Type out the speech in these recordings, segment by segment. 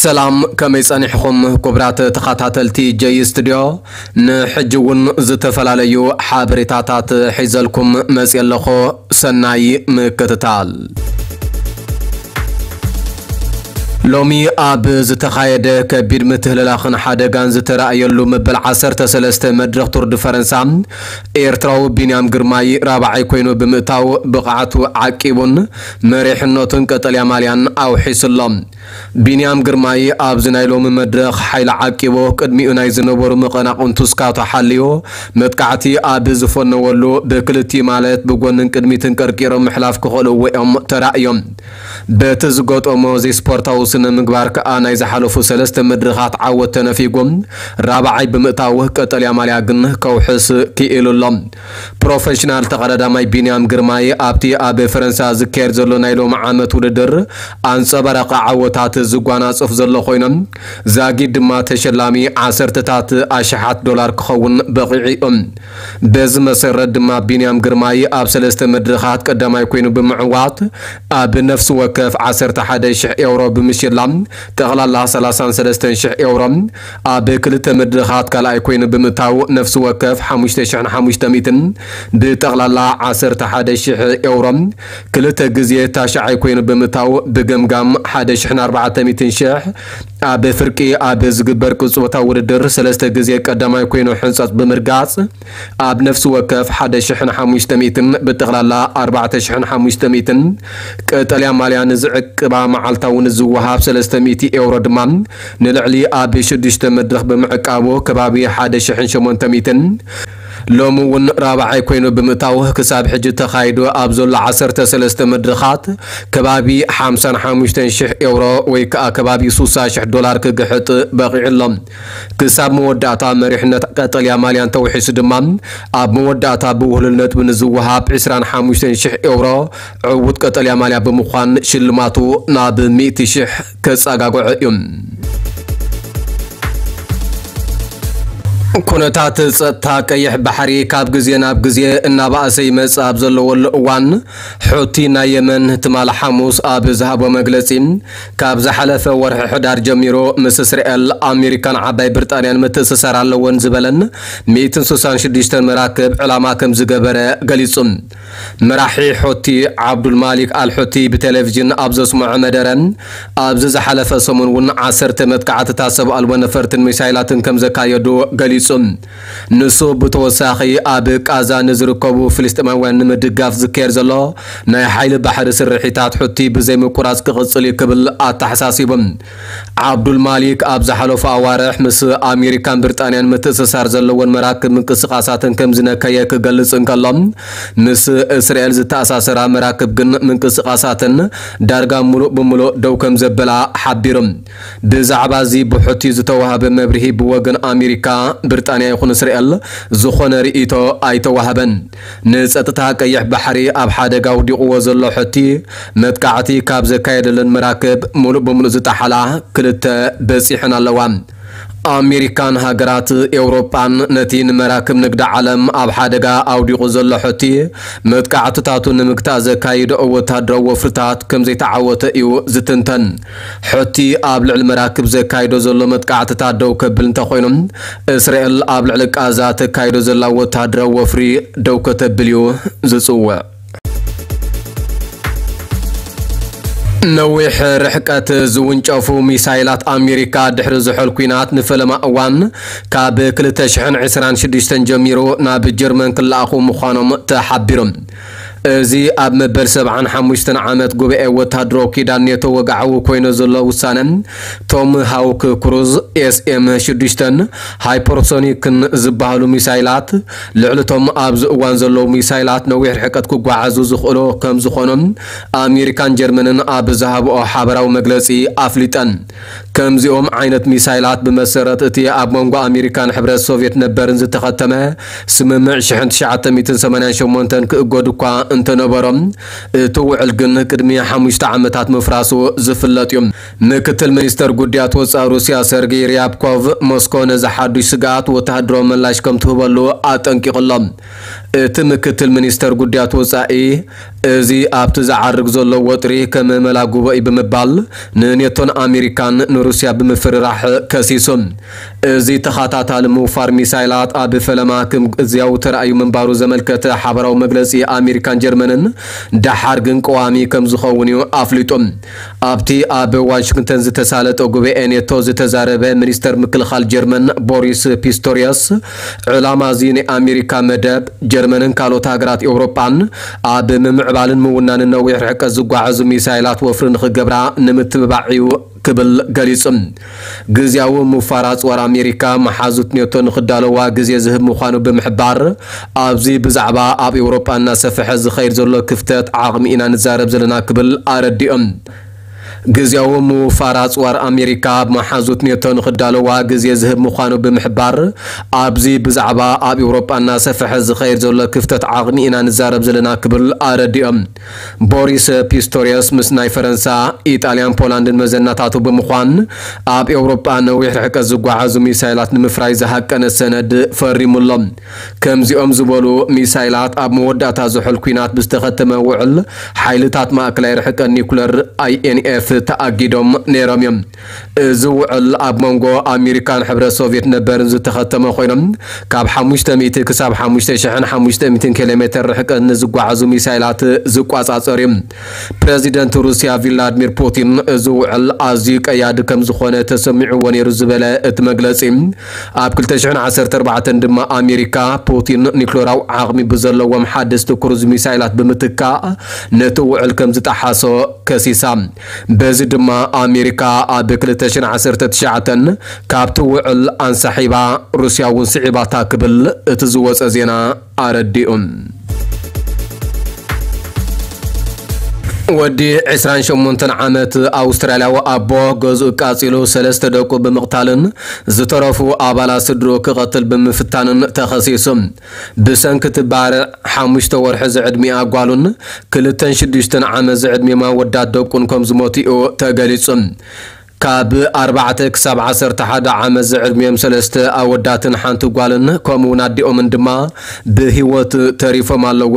ሰላም፣ ከመይ ጸኒሕኹም ክቡራት ተኸታተልቲ ጀይ ስቱድዮ? ንሕጂ እውን ዝተፈላለዩ ሓበሬታታት ሒዘልኩም መጽየ ኣለኹ። ሰናይ ምክትታል። ሎሚ ኣብ ዝተኻየደ ከቢድ ምትህልላኽን ሓደጋን ዝተራእየሉ መበል ዓሰርተ ሰለስተ መድረኽ ቱር ድ ፈረንሳ፣ ኤርትራዊ ቢንያም ግርማይ ራብዓይ ኮይኑ ብምእታው ብቕዓቱ ዓቂቡን መሪሕነቱን ቀጠልያ ማልያን ኣውሒሱ ኣሎ። ቢንያም ግርማይ ኣብዚ ናይ ሎሚ መድረኽ ሓይሊ ዓቂቡ፣ ቅድሚኡ ናይ ዝነበሩ መቐናቕንቱ ስካቶ ሓልዩ፣ መጥቃዕቲ ኣብ ዝፈነወሉ ብክልቲኡ ማለት ብጎንን ቅድሚትን ቀርቂሮም ምሕላፍ ክኽእልዎ እዮም ተራእዮም። በቲ ዝገጠሞ ዘይስፖርታዊ ስነ ምግባር ከኣ ናይ ዝሓለፉ ሰለስተ መድረኻት ዓወት ተነፊጉ፣ ራብዓይ ብምእታው ቀጠልያ ማልያ ግን ከውሕስ ክኢሉ ኣሎ። ፕሮፌሽናል ተቐዳዳማይ ቢንያም ግርማይ ኣብቲ ኣብ ፈረንሳ ዝካየድ ዘሎ ናይ ሎሚ ዓመት ውድድር ኣንጸባራቒ ዓወታት ዝጓናጽፍ ዘሎ ኮይኖም፣ ዛጊድ ድማ ተሸላሚ ዓሰርተታት ኣሽሓት ዶላር ክኸውን በቒዑ እዩ። በዚ መሰረት ድማ ቢንያም ግርማይ ኣብ ሰለስተ መድረኻት ቀዳማይ ኮይኑ ብምዕዋት ኣብ ነፍሲ ወከፍ ዓሰርተ ሓደ ሽሕ ኤውሮ ብምሽላም ጠቕላላ ሰላሳን ሰለስተን ሽሕ ኤውሮ፣ ኣብ ክልተ መድረኻት ካልኣይ ኮይኑ ብምእታው ነፍሲ ወከፍ ሓሙሽተ ሽሕን ሓሙሽተ ሚእትን ብጠቕላላ ዓሰርተ ሓደ ሽሕ ኤውሮ፣ ክልተ ግዜ ታሽዓይ ኮይኑ ብምእታው ብገምጋም ሓደ ሽሕን ኣርባዕተ ሚእትን ሽሕ፣ ኣብ ፍርቂ ኣብ ዝግበር ቅጽበታዊ ውድድር ሰለስተ ግዜ ቀዳማይ ኮይኑ ሕንጸት ብምርጋጽ ኣብ ነፍሲ ወከፍ ሓደ ሽሕን ሓሙሽተ ሚእትን ብጠቕላላ ኣርባዕተ ሽሕን ሓሙሽተ ሚእትን ቀጠልያ ማልያ ንዝዕቅባ መዓልታዊ ንዝወሃብ ሰለስተ ሚእቲ ኤውሮ ድማ ንልዕሊ ኣብ ሽዱሽተ መድረኽ ብምዕቃቡ ከባቢ ሓደ ሽሕን ሸሞንተ ሚእትን ሎሚ እውን ራብዓይ ኮይኑ ብምእታው ክሳብ ሕጂ ተኻይዱ ኣብ ዘሎ ዓሰርተ ሰለስተ መድረኻት ከባቢ ሓምሳን ሓሙሽተን ሽሕ ኤውሮ ወይ ከኣ ከባቢ ሱሳ ሽሕ ዶላር ክግሕጥ በቒዑ ኣሎ። ክሳብ መወዳእታ መሪሕነት ቀጠልያ ማልያን ተውሒሱ ድማ ኣብ መወዳእታ ብውህሉል ነጥቢ ንዝወሃብ ዕስራን ሓሙሽተን ሽሕ ኤውሮ ዕዉት ቀጠልያ ማልያ ብምዃን ሽልማቱ ናብ ሚእቲ ሽሕ ከጸጋግዖ እዩ። ኩነታት ጸጥታ ቀይሕ ባሕሪ ካብ ግዜ ናብ ግዜ እናበኣሰ ይመጽእ ኣብ ዘለወሉ እዋን፣ ሑቲ ናይ የመን ትማሊ ሓሙስ ኣብ ዝሃቦ መግለጺ፣ ካብ ዝሓለፈ ወርሒ ሕዳር ጀሚሩ ምስ እስራኤል፣ ኣሜሪካን ዓባይ ብሪጣንያን ምትእስሳር ኣለወን ዝበለን ሚእትን ስሳን ሽዱሽተን መራክብ ዕላማ ከም ዝገበረ ገሊጹ። መራሒ ሑቲ ዓብዱል ማሊክ ኣል ሑቲ ብቴሌቪዥን ኣብ ዘስምዖ መደረ፣ ኣብዚ ዝሓለፈ ሰሙን እውን ዓሰርተ መጥቃዕትታት ሰብ ኣልቦ ነፈርትን ሚሳይላትን ከም ዘካየዱ ገሊጹ። ንሱ ብተወሳኺ ኣብ ቃዛ ንዝርከቡ ፍልስጤማውያን ንምድጋፍ ዝካየድ ዘሎ ናይ ሓይሊ ባሕሪ ስርሒታት ሑቲ ብዘይምቁራጽ ክቕጽል እዩ ክብል ኣተሓሳሲቡ። ዓብዱል ማሊክ ኣብ ዝሓለፉ ኣዋርሕ ምስ ኣሜሪካን ብሪጣንያን ምትእስሳር ዘለወን መራክብ ምንቅስቓሳተን ከም ዝነከየ ክገልጽ እንከሎ፣ ምስ እስራኤል ዝተኣሳሰራ መራክብ ግን ምንቅስቓሳተን ዳርጋ ሙሉእ ብሙሉእ ደው ከም ዘበላ ሓቢሩ። ብዛዕባ እዚ ብሑቲ ዝተዋህበ መብርሂ ብወገን ኣሜሪካ፣ ብሪጣንያ ይኹን እስራኤል ዝኾነ ርእይቶ ኣይተዋህበን። ንጸጥታ ቀይሕ ባሕሪ ኣብ ሓደጋ ኣውዲቕዎ ዘሎ ሑቲ፣ መጥቃዕቲ ካብ ዘካየደለን መራክብ ሙሉእ ብሙሉእ ዝጠሓላ ክልተ በጺሐን ኣለዋ። ኣሜሪካን ሃገራት ኤውሮጳን ነቲ ንመራክብ ንግዲ ዓለም ኣብ ሓደጋ ኣውዲቑ ዘሎ ሑቲ መጥቃዕትታቱ ንምግታእ ዘካይድኦ ወታደራዊ ወፍርታት ከም ዘይተዓወተ እዩ ዝትንተን። ሑቲ ኣብ ልዕሊ መራክብ ዘካይዶ ዘሎ መጥቃዕትታት ደው ከብል እንተኾይኑ፣ እስራኤል ኣብ ልዕሊ ቃዛ ተካይዶ ዘላ ወታደራዊ ወፍሪ ደው ከተብል እዩ ዝጽውዕ። ነዊሕ ርሕቀት ዝውንጨፉ ሚሳይላት ኣሜሪካ ድሕሪ ዝሑል ኲናት ንፈለማ እዋን ካብ ክልተ ሽሕን ዕስራን ሽዱሽተን ጀሚሩ ናብ ጀርመን ክለኣኹ ምዃኖም ተሓቢሩ። እዚ ኣብ መበል ሰብዓን ሓሙሽተን ዓመት ጉባኤ ወታደራዊ ኪዳን ኔቶ ወግዓዊ ኮይኑ ዘሎ ውሳነ፣ ቶም ሃውክ ክሩዝ ኤስኤም ሽዱሽተን ሃይፐርሶኒክን ዝበሃሉ ሚሳይላት፣ ልዕሊ ቶም ኣብዚ እዋን ዘለዉ ሚሳይላት ነዊሕ ርሕቀት ክጓዓዙ ዝኽእሉ ከም ዝኾኑ ኣሜሪካን ጀርመንን ኣብ ዝሃብኦ ሓበራዊ መግለጺ ኣፍሊጠን። ከምዚኦም ዓይነት ሚሳይላት ብመሰረት እቲ ኣብ መንጎ ኣሜሪካን ሕብረት ሶቭየት ነበርን ዝተኸተመ ስምምዕ ሽሕን ትሽዓተ ሚእትን ሰማንያን ሸሞንተን ክእገዱ እኳ እንተነበሮም፣ እቲ ውዕል ግን ቅድሚ ሓሙሽተ ዓመታት ምፍራሱ ዝፍለጥ እዩ። ምክትል ሚኒስተር ጉዳያት ወጻኢ ሩስያ ሰርጌይ ርያብኮቭ፣ ሞስኮ ነዚ ሓዱሽ ስግኣት ወተሃደራዊ ምላሽ ከም ትህበሉ ኣጠንቂቑ ኣሎ። እቲ ምክትል ሚኒስተር ጉዳያት ወጻኢ፣ እዚ ኣብቲ ዝዓርግ ዘሎ ወጥሪ ከም መላጉቦ እዩ ብምባል ንኔቶን ኣሜሪካን ንሩስያ ብምፍርራሕ ከሲሱ። እዚ ተኸታታሊ ምውፋር ሚሳይላት ኣብ ፈለማ ከም ግዝያዊ ተራእዩ ምንባሩ ዘመልከተ ሓበራዊ መግለጺ ኣሜሪካን ጀርመንን፣ ደሓር ግን ቀዋሚ ከም ዝኸውን እዩ ኣፍሊጡ። ኣብቲ ኣብ ዋሽንግተን ዝተሳለጠ ጉባኤ ኔቶ ዝተዛረበ ሚኒስተር ምክልኻል ጀርመን ቦሪስ ፒስቶሪየስ፣ ዕላማ እዚ ናይ ኣሜሪካ መደብ ጀርመንን ካልኦት ሃገራት ኤውሮጳን ኣብ ምምዕባልን ምውናንን ነዊሕ ርሕቀት ዝጓዓዙ ሚሳይላት ወፍሪ ንኽገብራ ንምትብባዕ እዩ ክብል ገሊጹ። ግዝያዊ ምፋር ኣጽዋር ኣሜሪካ መሓዙት ኔቶ ንኽዳለዋ ግዜ ዝህብ ምዃኑ ብምሕባር፣ ኣብዚ ብዛዕባ ኣብ ኤውሮጳ እናሰፍሐ ዝኸይድ ዘሎ ክፍተት ዓቕሚ ኢና ንዛረብ ዘለና ክብል ኣረዲኦም። ግዝያዊ ምውፋር ኣጽዋር ኣሜሪካ ኣብ መሓዙት ኔቶ ንኽዳለዋ ግዜ ዝህብ ምዃኑ ብምሕባር፣ ኣብዚ ብዛዕባ ኣብ ኤውሮጳ እናሰፍሐ ዝኸይድ ዘሎ ክፍተት ዓቕሚ ኢና ንዛረብ ዘለና ክብል ኣረዲኦም። ቦሪስ ፒስቶሪየስ ምስ ናይ ፈረንሳ፣ ኢጣልያን ፖላንድን መዘናታቱ ብምዃን፣ ኣብ ኤውሮጳ ነዊሕ ርሕቀት ዝጓዓዙ ሚሳይላት ንምፍራይ ዝሃቀነ ሰነድ ፈሪሙ ኣሎ። ከምዚኦም ዝበሉ ሚሳይላት ኣብ መወዳእታ ዝሑል ኲናት ብዝተኸተመ ውዕል ሓይልታት ማእከላይ ርሕቀት ኒኩለር፣ ኣይኤንኤፍ፣ ተኣጊዶም ነይሮም እዮም። እዚ ውዕል ኣብ መንጎ ኣሜሪካን ሕብረት ሶቪየት ነበርን ዝተኸተመ ኮይኖም፣ ካብ ሓሙሽተ ሚእቲ ክሳብ ሓሙሽተ ሽሕን ሓሙሽተ ሚእትን ኪሎ ሜተር ርሕቀት ንዝጓዓዙ ሚሳይላት ዝቋጻጸር እዩ። ፕረዚደንት ሩስያ ቪላድሚር ፑቲን፣ እዚ ውዕል ኣዝዩ ቀያዲ ከም ዝኾነ ተሰሚዕዎ ነይሩ ዝበለ እቲ መግለጺ፣ ኣብ ክልተ ሽሕን ዓሰርተ ኣርባዕተን ድማ ኣሜሪካ ፑቲን ኒክሌራዊ ዓቕሚ ብዘለዎም ሓደስቲ ክሩዝ ሚሳይላት ብምትካእ ነቲ ውዕል ከም ዝጠሓሶ ከሲሳ። በዚ ድማ ኣሜሪካ ኣብ ክልተ ሽሕን ዓሰርተ ትሽዓተን ካብቲ ውዕል ኣንሳሒባ፣ ሩስያ እውን ስዒባታ ክብል እቲ ዝወጸ ዜና ኣረዲኡ። ወዲ ዕስራን ሸሞንተን ዓመት ኣውስትራልያዊ ኣቦ ገዝኡ ቃጺሉ ሰለስተ ደቁ ብምቕታልን ዝተረፉ ኣባላት ስድርኡ ክቐትል ብምፍታንን ተኸሲሱ። ብሰንኪ እቲ ባርዕ፣ ሓሙሽተ ወርሒ ዝዕድሚኣ ጓሉን ክልተን ሽዱሽተን ዓመት ዝዕድሚኦም ኣወዳት ደቁን ከም ዝሞቱ እዩ ተገሊጹ። ካብ ኣርባዕተ ክሳብ ዓሰርተ ሓደ ዓመት ዝዕድሚኦም ሰለስተ ኣወዳትን ሓንቲ ጓልን ከምኡውን ኣዲኦምን ድማ ብህይወት ተሪፎም ኣለዉ።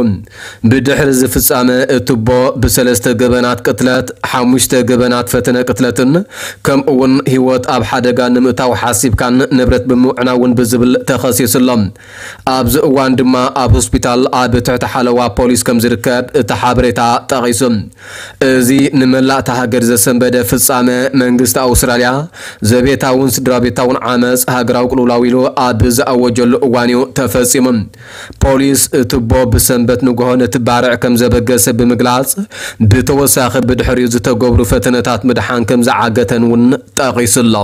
ብድሕሪ እዚ ፍጻመ እቲ ኣቦ ብሰለስተ ገበናት ቅትለት፣ ሓሙሽተ ገበናት ፈተነ ቅትለትን ከምኡውን ህይወት ኣብ ሓደጋ ንምእታው ሓሲብካን ንብረት ብምዕናውን ብዝብል ተኸሲሱ ኣሎ። ኣብዚ እዋን ድማ ኣብ ሆስፒታል ኣብ ትሕቲ ሓለዋ ፖሊስ ከም ዝርከብ እቲ ሓበሬታ ጠቒሱ። እዚ ንመላእታ ሃገር ዘሰንበደ ፍጻመ መንግስቲ ኣውስትራልያ ዘቤታውን ስድራ ቤታውን ዓመጽ ሃገራዊ ቅልውላው ኢሉ ኣብ ዝኣወጀሉ እዋን እዩ ተፈጺሙ። ፖሊስ እቲ ኣቦ ብሰንበት ንግሆ ነቲ ባርዕ ከም ዘበገሰ ብምግላጽ፣ ብተወሳኺ ብድሕሪኡ ዝተገብሩ ፈተነታት ምድሓን ከም ዝዓገተን እውን ጠቒሱ ኣሎ።